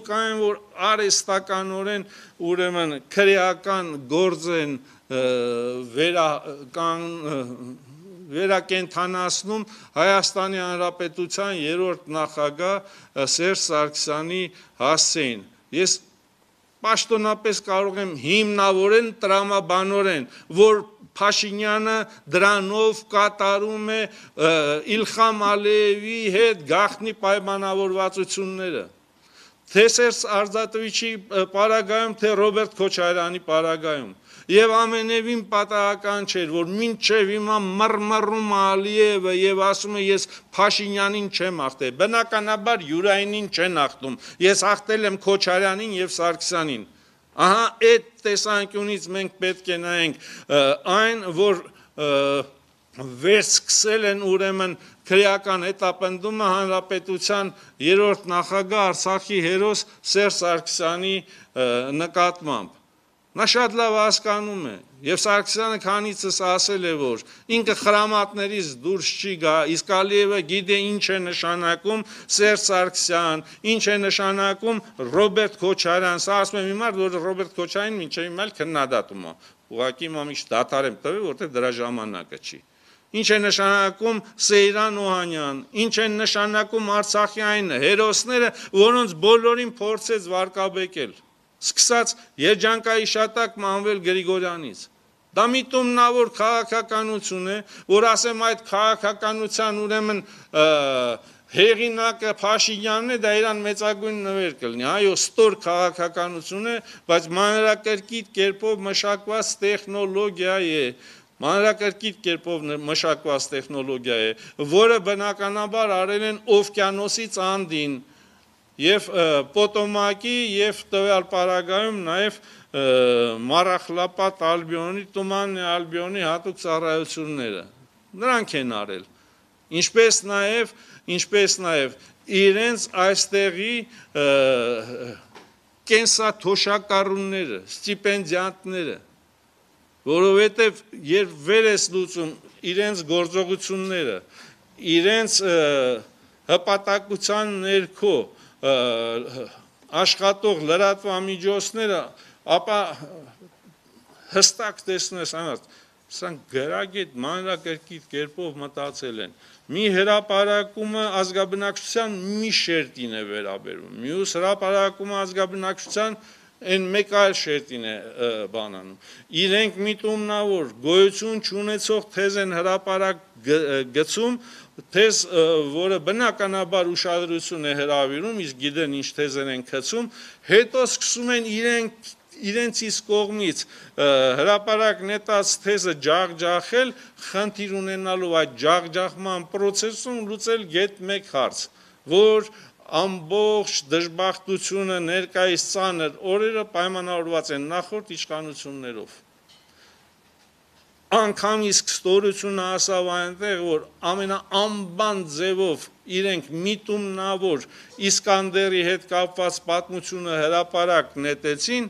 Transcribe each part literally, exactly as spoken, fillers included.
կա են, որ արհեստականորեն ուրեմն քրեական գործ են վերական վերակենդանացնում Հայաստանի Հանրապետության երրորդ նախագահ Սերժ Սարգսյանի հասցեին։ Ես պաշտոնապես կարող եմ հիմնավորել տրամաբանորեն, որ Փաշինյանը դրանով կատարում է Իլխամ Ալիևի հետ գաղտնի պայմանավորվածությունները, թե Սերժ Արզատովիչի պարագայում, թե Ռոբերտ Քոչարյանի պարագայում։ Եվ ամենևին պատահական չէր, որ մինչև հիմա մռմռում Ալիևը եւ ասում է ես Փաշինյանին չեմ ախտել, բնականաբար Յուրայինին չեն ախտում, ես ախտել եմ Քոչարյանին եւ Սարգսյանին։ Ահա այդ տեսանկյունից մենք պետք է նայենք այն, որ վերսկսել են ուրեմն քրեական հետապնդումը հանրապետության երրորդ նախագահ Արցախի հերոս Սերժ Սարգսյանի նկատմամբ։ Նա շատ լավ հասկանում է, եւ Սարգսյանը քանիցս ասել է, որ ինքը խրամատներից դուրս չի գա, իսկ Ալիևը գիտե ինչ է նշանակում Սերժ Սարգսյան, ինչ է նշանակում Ռոբերտ Քոչարյան, սա ասում եմ հիմա, որ Ռոբերտ Քոչարյանին մինչև հիմա էլ քննադատում է, ուղղակի հիմա միշտ դադար եմ տվել, որտեղ դրա ժամանակը չի։ Ինչ է նշանակում Սեյրան Օհանյան, ինչ են նշանակում Արցախի այն հերոսները, որոնց բոլորին փորձեց վարկաբեկել։ Սկսած երջանկայիշատակ Մանվել Գրիգորյանից։ Դա միտումնավոր քաղաքականություն է, որ ասեմ այդ քաղաքականության ուրեմն հեղինակը Փաշինյանն է, դա իրան մեծագույն նվեր կլինի, այո, ստոր քաղաքականություն է, բայց մանրակրկիտ կերպով մշակված տեխնոլոգիա է, մանրակրկիտ կերպով մշակված տեխնոլոգիա է, որը բնականաբար արել են օվկիանոսից անդին, եւ Պոտոմակի եւ տվյալ պարագայում նաեւ Մարախլապատ Ալբիոնի, Տումաննի Ալբիոնի հատուկ ծառայությունները նրանք են արել, ինչպես նաեւ ինչպես նաեւ իրենց այստեղի կենսաթոշակառուները, ստիպենդիանտները, որովհետեւ երբ վեր ես լուծում իրենց գործողությունները, իրենց հպատակության ներքո աշխատող լրատվամիջոցները, ապա հստակ տեսնես անած, սրանք գրագետ մանրակրկիտ կերպով մտածել են։ Մի հրապարակումը ազգաբնակչության մի շերտին է վերաբերում, մյուս հրապարակումը ազգաբնակչության այն մեկ այլ շերտին է բանանում։ Իրենք միտումնավոր գոյություն չունեցող թեզ են հրապարակ գցում, թեզ, որը բնականաբար ուշադրություն է հրավիրում, իսկ գիտեն ինչ թեզեր են գցում, հետո սկսում են իրենք իրենցից կողմից հրապարակ նետած թեզը ջախջախել, խնդիր ունենալով այդ ջախջախման պրոցեսում լուծել գետ մեկ հարց, որ ամբողջ դժբախտությունը ներկայիս ծանր օրերը պայմանավորված են նախորդ իշխանություններով։ Անգամ իսկ ստորությունը ասավ այնտեղ, որ ամենաանբան ձևով իրենք միտումնավոր Իսկանդերի հետ կապված պատմությունը հրապարակ նետեցին,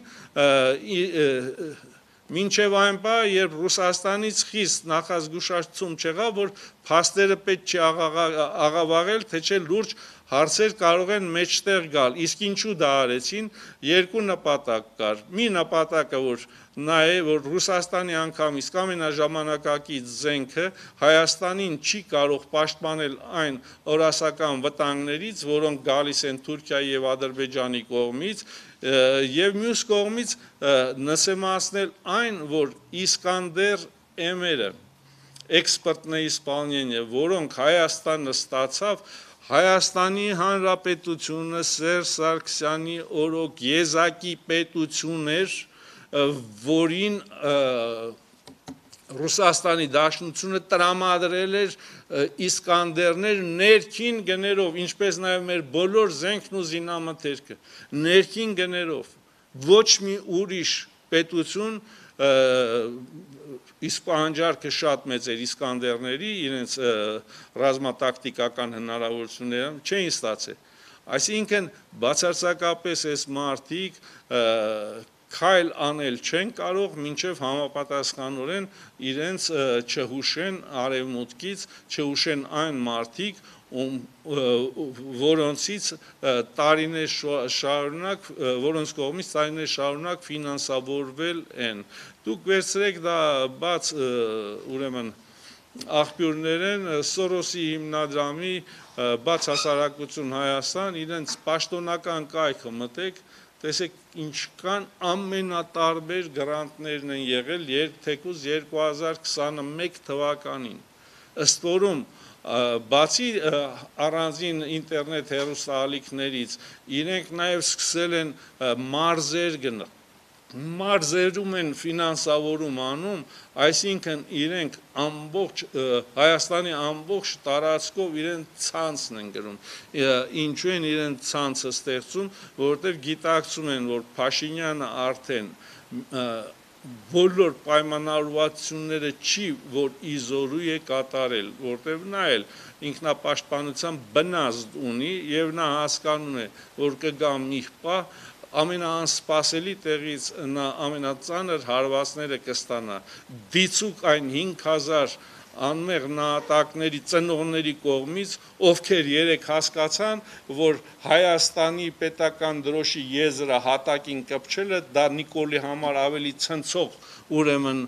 մինչև այն բա, երբ Ռուսաստանից խիստ նախազգուշացում չեղավ, որ փաստերը պետք չի աղավաղել, թե չէ լուրջ հարցեր կարող են մեջտեղ գալ, իսկ ինչու դա արեցին, երկու նպատակ կար, մի նպատակը, որ նայե, որ Ռուսաստանի անգամ իսկ ամենաժամանակակից զենքը Հայաստանին չի կարող պաշտպանել այն օրասական վտանգներից, որոնք գալիս են Թուրքիայի եւ Ադրբեջանի կողմից, եւ մյուս կողմից նսեմացնել այն, որ Իսկանդեր M-երը, էքսպերտների исполнение, որոնք Հայաստանը ստացավ, Հայաստանի Հանրապետությունը Սերժ Սարգսյանի օրոք եզակի պետություն էր, որին Ռուսաստանի Դաշնությունը տրամադրել էր Իսկանդերներ ներքին գներով, ինչպես նաև մեր բոլոր զենքն ու զինամթերքը, ներքին գներով, ոչ մի ուրիշ պետություն իսկ պահանջարկը շատ մեծ էր Իսկանդերների, իրենց ռազմատակտիկական հնարավորությունները չէին ստացել։ Այսինքն բացարձակապես այս մարդիկ քայլ անել չեն կարող, մինչև համապատասխանորեն իրենց չհուշեն արևմուտքից, չհուշեն այն մարդիկ, որոնցից տարիներ շարունակ, որոնց կողմից տարիներ շարունակ ֆինանսավորվել են։ Դուք վերցրեք դա բաց ուրեմն աղբյուրներ են Սորոսի հիմնադրամի բաց հասարակություն Հայաստան, իրենց պաշտոնական կայքը մտեք, տեսեք ինչքան ամենատարբեր գրանտներն են եղել թեկուզ երկու հազար քսանմեկ թվականին, ըստ որում բացի առանձին ինտերնետ հեռուստաալիքներից, իրենք նաև սկսել են մարզեր գնել, մարզերում են ֆինանսավորում անում, այսինքն իրենք ամբողջ Հայաստանի ամբողջ տարածքով իրենց ցանցն են գրում, ինչու են իրենց ցանցը ստեղծում, որովհետև գիտակցում են, որ Փաշինյանը արդեն բոլոր պայմանավորվածությունները չի, որ իզորու է կատարել, որտեղ նա էլ ինքնապաշտպանության բնազդ ունի եւ նա հասկանում է, որ կգա մի պահ ամենաանսպասելի տեղից նա ամենածանր հարվածները կստանա, դիցուկ այն հինգ հազար անմեղ նահատակների ծնողների կողմից, ովքեր երեք հասկացան, որ Հայաստանի պետական դրոշի եզրը հատակին կպչելը դա Նիկոլի համար ավելի ցնցող ուրեմն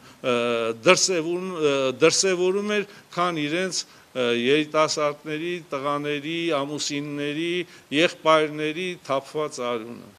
դրսևորում էր, քան իրենց երիտասարդների, տղաների, ամուսինների, եղբայրների թափված արյունը։